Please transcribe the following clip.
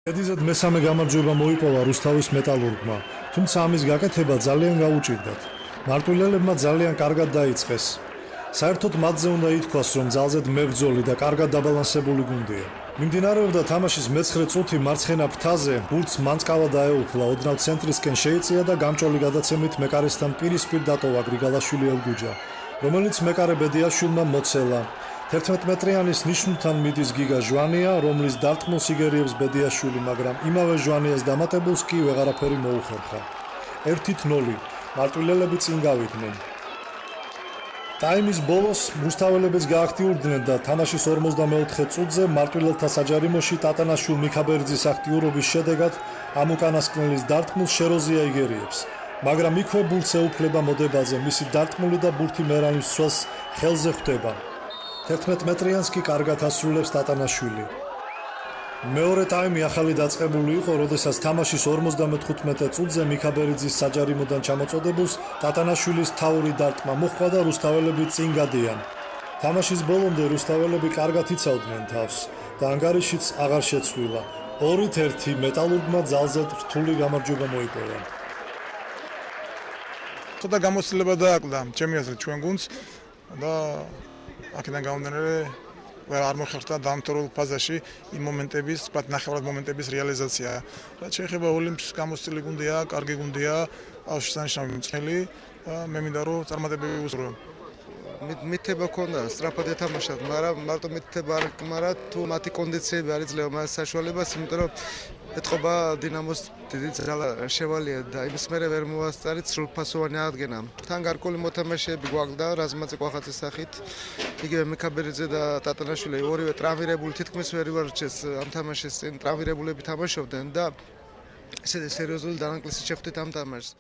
Ედიზად მესამე გამარჯვება მოიპოვა რუსთავის მეტალურგმა, თუმცა ამის გაკეთება ძალიან გაუჭირდათ. მარტვილელებმა ძალიან კარგად დაიწყეს. საერთოდ მათზე უნდა ითქვას, რომ ძალზედ მებრძოლი და კარგად დაბალანსებული გუნდია. მიმდინარეობდა თამაშის მე-9 წუთი მარცხენა ფრთაზე, ბურთს მანწკავა დაეუფლა, ოდნავ ცენტრისკენ შეიწია და გამჭოლი გადაცემით მეკარესთან პირისპირ დატოვა გრიგალაშვილი ელგუჯა, რომელიც მეკარე ბედიაშვილმა მოცელა. 11 მეტრიანის ნიშნულთან მიდის გიგა ჟვანია, რომლის დარტყმულს იგერიებს ბედიაშვილი, მაგრამ იმავე ჟვანიას დამატებულს კი ვეღარაფერი მოუხერხა. 1-0 მარტვილელები წინ გავიდნენ. ტაიმის ბოლოს რუსთაველებიც გააქტიურდნენ და თამაშის 44 წუთზე მარტვილელთა საჯარიმოში ტატანაშვილ მიქაბერძის აქტიურობის შედეგად ამ უკანასკნელის დარტყმულს შეროზია იგერიებს, მაგრამ იქვე ბურთს ეუფლება მოდებაძე, მისი დარტყმული და ბურთი მერანის ცველს ხელზე ხვდება. 11 მეტრიანს კი კარგად ასრულებს ტატანაშვილი. მეორე ტაიმი ახალი დაწყებული იყო, როდესაც თამაშის 55 წუთზე მიქაბერიძის საჯარიმოდან ჩამოწოდებულს ტატანაშვილის თავური დარტყმა მოჰყვა და რუსთაველები წინ გადიან. თამაშის ბოლომდე რუსთაველები კარგად იცავდნენ თავს და ანგარიშიც აღარ შეცვლილა. 2-1 მეტალურგმა ძალზედ რთული გამარჯვება მოიპოვა. ცოტა გამოცდილება დააკლდა ჩემი აზრით ჩვენ გუნდს და აქედან გამომდინარე არ მოხერხდა დამთავრებულ ფაზაში იმ მომენტების, ვთქვათ, ნახევრად მომენტების რეალიზაცია. რაც შეეხება ოლიმპს, გამოცდილი გუნდია, კარგი გუნდია, აღშანშნავი მწელი, მე მინდა რომ წარმატებები უსურვო. მითება ქონდა სწრაფად ეთამაშათ, მაგრამ მარტო მითება არ მაგრამ თუ მათი კონდიციები არ იძლევა მას საშუალებას, იმიტომ რომ ეთყობა დინამოს დიდი ძალა შევალია და იმის მერე ვერ მოასწარით სრულფასოვანი აღდგენა. თან გარკვეული მოთამაშეები გვაქვს და რაზმაძე კვახაძის სახით, იგივე მიქაბერიძე და ტატანაშვილი ორივე ტრავმირებული, თითქმის ვერ ივარჩეს ამ თამაშის წინ ტრავმირებულები თამაშობდნენ და ესეთი სერიოზული დანაკლისი შეხვდით ამ თამაშს.